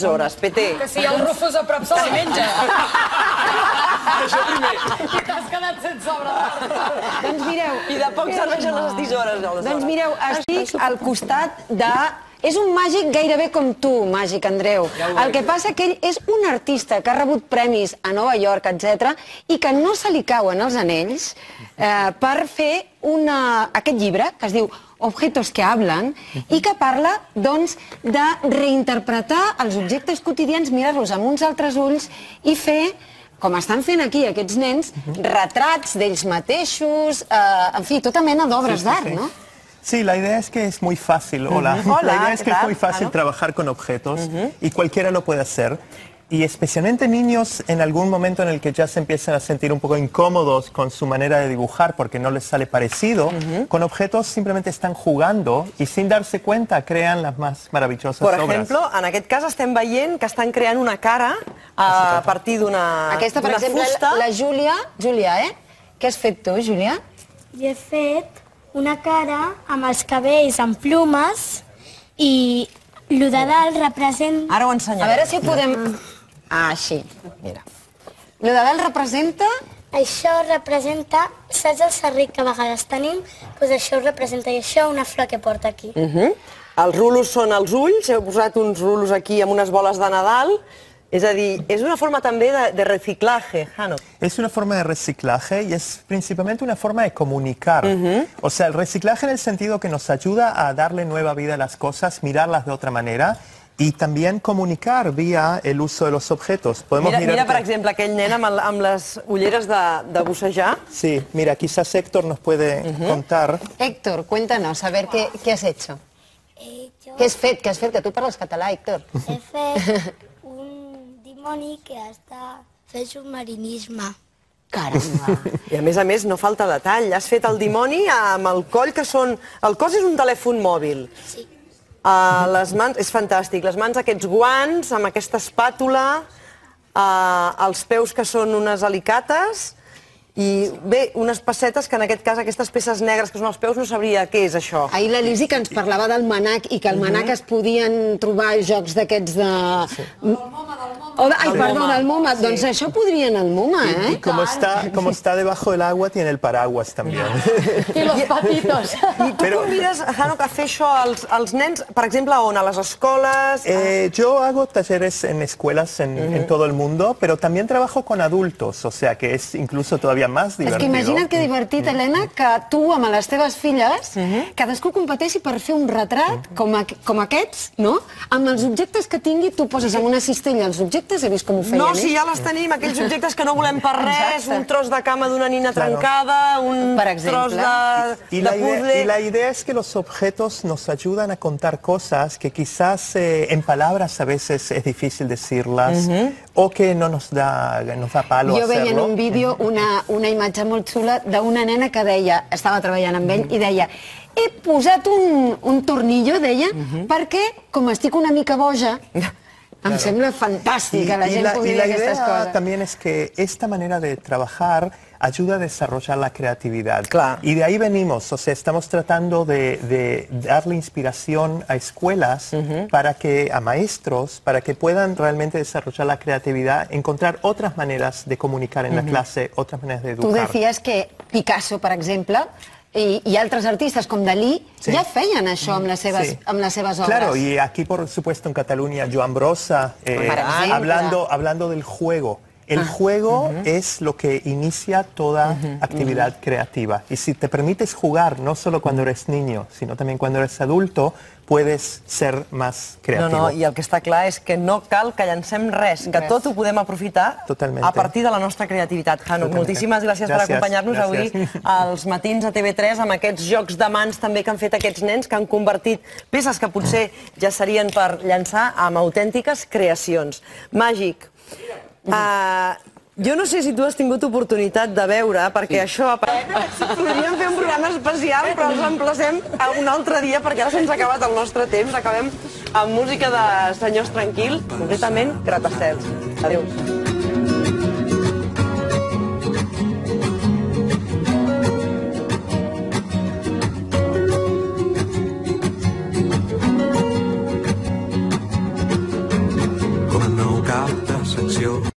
hores, PT. Que si el Rufus a prop se la menja. Això primer. I t'has quedat sense obra d'art. Doncs mireu... I de poc serveixen les tisores. Doncs mireu, estic al costat de... És un màgic gairebé com tu, màgic, Andreu. El que passa que ell és un artista que ha rebut premis a Nova York, etc., i que no se li cauen els anells per fer aquest llibre, que es diu Objetos que hablan, i que parla, doncs, de reinterpretar els objectes quotidians, mirar-los amb uns altres ulls i fer, com estan fent aquí aquests nens, retrats d'ells mateixos, en fi, tota mena d'obres d'art, no? Sí, la idea es que es muy fácil. Hola. La idea es que es muy fácil trabajar con objetos y cualquiera lo puede hacer. Y especialmente niños en algún momento en el que ya se empiezan a sentir un poco incómodos con su manera de dibujar porque no les sale parecido, con objetos simplemente están jugando y sin darse cuenta crean las más maravillosas obras. Per exemple, en aquest cas estem veient que estan creant una cara a partir d'una fusta. Aquesta, per exemple, la Júlia. Júlia, què has fet tu, Júlia? Jo he fet una cara amb els cabells en plumes i el de dalt representa... Ara ho ensenyaré. A veure si podem... Ah, així, mira. El de dalt representa... Això representa, saps el serrit que a vegades tenim? Doncs això ho representa, i això una flor que porta aquí. Els rulos són els ulls, heu posat uns rulos aquí amb unes boles de Nadal. Es decir, es una forma también de reciclaje, Jano. Es una forma de reciclaje y es principalmente una forma de comunicar. O sea, el reciclaje en el sentido que nos ayuda a darle nueva vida a las cosas, mirarlas de otra manera y también comunicar vía el uso de los objetos. Mira, per exemple, aquell nen amb les ulleres de bussejar. Sí, mira, quizás Héctor nos puede contar. Héctor, cuéntanos, a ver qué has hecho. ¿Qué has fet? ¿Qué has fet? Que tu parles català, Héctor. He fet un dimoni que està fent submarinisme. Caramba. I a més, no falta detall. Has fet el dimoni amb el coll, que són... El cos és un telèfon mòbil. Sí. Les mans, és fantàstic, les mans aquests guants, amb aquesta espàtula, els peus que són unes alicates, i bé, unes pessetes que en aquest cas, aquestes peces negres que són els peus, no sabria què és això. Ahir la Lisi que ens parlava del manac i que al manac es podien trobar jocs d'aquests de... Del MoMA, del MoMA. Ai, perdó, del MoMA. Doncs això podrien al MoMA, eh? Y como está debajo del agua, tiene el paraguas también. I los patitos. I tu convides, Jano, a fer això als nens, per exemple, on? A les escoles? Yo hago talleres en escuelas en todo el mundo, pero también trabajo con adultos, o sea que es incluso todavía más divertido. És que imagina't que divertit, Helena, que tu amb les teves filles, cadascú competeixi per fer un retrat com aquests, no? Amb els objectes que tingui, tu poses en una cistella els objectes, he vist com ho feien, No, si ja les tenim, aquells objectes que no volem per res, un tros de cama d'una nina trencada, un tros de puzzle... Y la idea es que los objetos nos ayudan a contar cosas que quizás en palabras a veces es difícil decirlas, o que no nos da palo hacerlo. Jo veia en un vídeo una imatge molt xula d'una nena que deia, estava treballant amb ell, i deia, he posat un tornillo, deia, perquè, com estic una mica boja, em sembla fantàstic que la gent pugui dir aquestes coses. La idea también es que esta manera de trabajar ayuda a desarrollar la creatividad. Claro. Y de ahí venimos, o sea, estamos tratando de darle inspiración a escuelas, a maestros, para que puedan realmente desarrollar la creatividad, encontrar otras maneras de comunicar en la clase, otras maneras de educar. Tu decías que Picasso, per exemple, y altres artistas com Dalí ja feien això amb les seves obres. Claro, y aquí por supuesto en Cataluña, Joan Brossa, hablando del juego. El juego es lo que inicia toda actividad creativa. Y si te permites jugar, no solo cuando eres niño, sino también cuando eres adulto, puedes ser más creativo. No, i el que està clar és que no cal que llancem res, que tot ho podem aprofitar a partir de la nostra creativitat. Jano, moltíssimes gràcies per acompanyar-nos avui als matins a TV3 amb aquests jocs de mans també que han fet aquests nens, que han convertit peces que potser ja serien per llançar amb autèntiques creacions. Màgic. Jo no sé si tu has tingut oportunitat de veure, perquè això... Podríem fer un programa especial, però els emplacem a un altre dia, perquè ara se'ns ha acabat el nostre temps. Acabem amb música de Senyors Tranquils, concretament Gratacels. Adéu. cap de secció.